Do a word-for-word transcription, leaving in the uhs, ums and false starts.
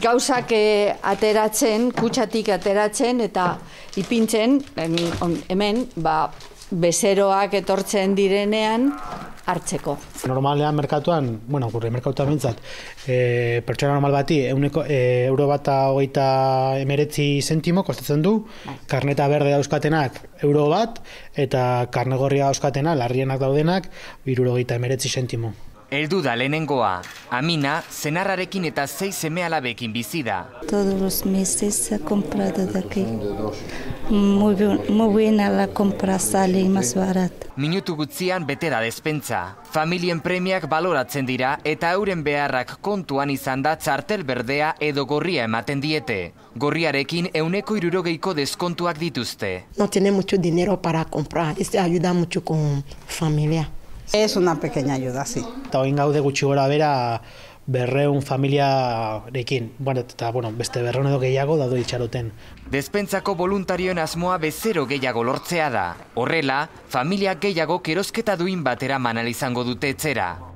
gauzak ateratzen, kutsatik ateratzen eta ipintzen, hemen, ba, bezeroak etortzen direnean hartzeko. Normalean merkatuan, bueno, gure merkatuan bintzat, e, pertsona normal bati euneko, e, euro bata hogeita emeretzi zentimo kostatzen du, karneta berde dauzkatenak euro bat, eta karne gorria dauzkatena, larrienak daudenak, hirurogeita emeretzi zentimo. Heldu da lehenengoa, Amina, senarrarekin eta sei seme-alabekin bizi da. Todos los meses he comprado de aquí. Muy, muy buena la compra, sale más barata. Minutu gutzian bete da despentsa. Familien premiak baloratzen dira eta euren beharrak kontuan izan da txartel berdea edo gorria ematen diete. Gorriarekin euneko hirurogeiko deskontuak dituzte. No tiene mucho dinero para comprar, esto ayuda mucho con familia. Es una pequeña ayuda, sí. Eta oin gaude gutxi gora bera berreun familiarekin. Bueno, eta bueno, beste berreun edo gehiago daude itxaroten. Despentsako voluntarioen asmoa bezero gehiago lortzea da. Horrela, familia gehiago erosketa duin batera manal izango dute etxera.